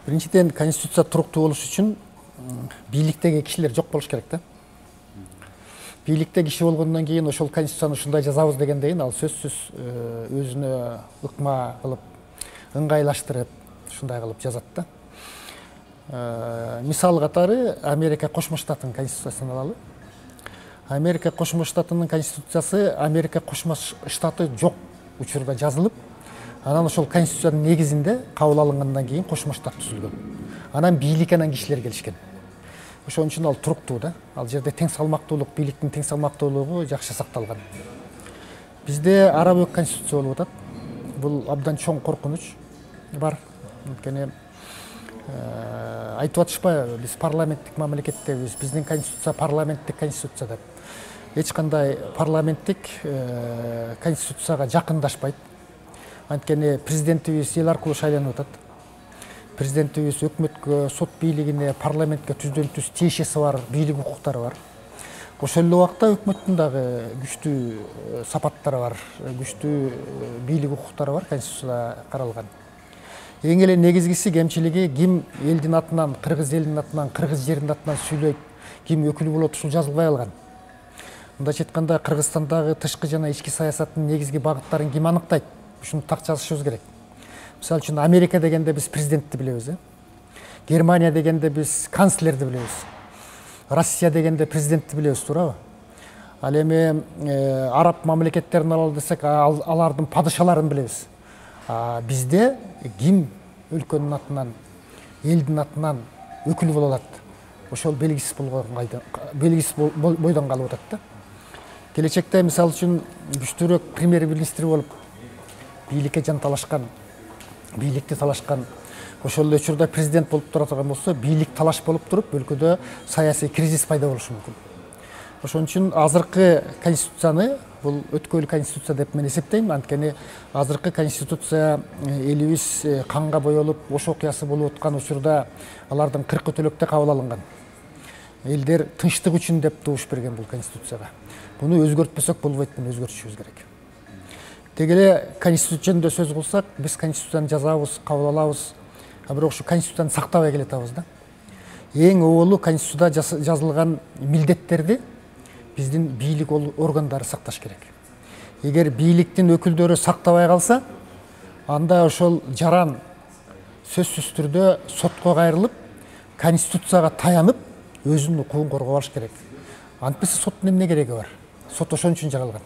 Биринчиден, конституция туруктуу болуш үчүн бийликтеги кишилер жок болуш керек да. Бийликте киши болгондон кийин ошол конституцияны ушундай жазабыз дегенден кийин ал сөзсүз өзүнө ыкма кылып, ыңгайлаштырып, ушундай кылып жазат да. Мисал катары Америка Кошмо Штатынын конституциясын алалы. Америка Кошмо Штатынын конституциясы Америка Кошмо Штаты жок учурда жазылып, анан ошол конституциянын негизинде кабыл алынгандан кийин Кошмо Штат түзүлгөн. Анан бийлик анан кишилер келишкен. Ошон үчүн ал туруктуу да. Ал жерде тең салмактуулук, бийликтин тең салмактуулугу жакшы сакталган. Бизде ара бөк конституция болуп атат. Бул абдан чоң коркунуч бар. Анткени айтып атышпайбы, биз парламенттик мамлекеттебиз, биздин конституция парламенттик конституция деп. Эч кандай парламенттик конституцияга жакындашпайт. Анткени президентибиз эл аркылуу шайланып атат. Президентибиз өкмөткө, сот бийлигине, парламентке түздөн түз тиешеси бар, бийлик укуктары бар. Ошол эле убакта өкмөттүн дагы күчтүү сапаттары бар, күчтүү бийлик укуктары бар, конституцияда каралган. Эң эле негизгиси кемчилиги ким элдин атынан, кыргыз элинин атынан, кыргыз жеринин атынан сүйлөйт, ким өкүл болот, ушул жазылбай алган. Мындайча айтканда, Кыргызстандагы тышкы жана ички саясаттын негизги багыттарын ким аныктайт? Ушуну так жазышыбыз керек. Мисалы үчүн Америка дегенде биз президентти билебиз, Германия дегенде биз канцлерди билебиз. Россия дегенде президентти билебиз, туурабы? Ал эми араб мамлекеттерин алалы десек, алардын падышаларын билебиз. Бизде ким өлкөнүн атынан, элдин атынан өкүл боло алат? Ошол белгисиз бойдон калып атат да. Келечекте мисалы үчүн күчтүүрөөк премьер-министр болуп, бийликке жан талашкан, бийликти талашкан, ошол эле учурда президент болуп тура турган болсо, бийлик талаш болуп туруп, өлкөдө саясий кризис пайда болушу мүмкүн. Ошон үчүн азыркы конституцияны, бул өткөйлүү конституция деп мен эсептейм. Анткени азыркы конституция элибиз канга боелуп, ош окуясы болуп аткан учурда алардын 40 төлөктө кабыл алынган. Элдер тынчтык үчүн деп добуш берген бул конституцияга. Буну өзгөртпөсөк болбойт, буну өзгөртүшүбүз керек. Деги эле конституция жөнүндө сөз кылсак, биз конституцияны жазабыз, кабыл алабыз, бирок ушу конституцияны сактабай келатабыз да. Эң оболу конституцияда жазылган милдеттерди биздин бийлик органдары сакташ керек. Эгер бийликтин өкүлдөрү сактабай калса, анда ошол жаран сөзсүз түрдө сотко кайрылып, конституцияга таянып, өзүнүн укугун коргоп алыш керек. Антпесе соттун эмне кереги бар? Сот ошон үчүн жаралган.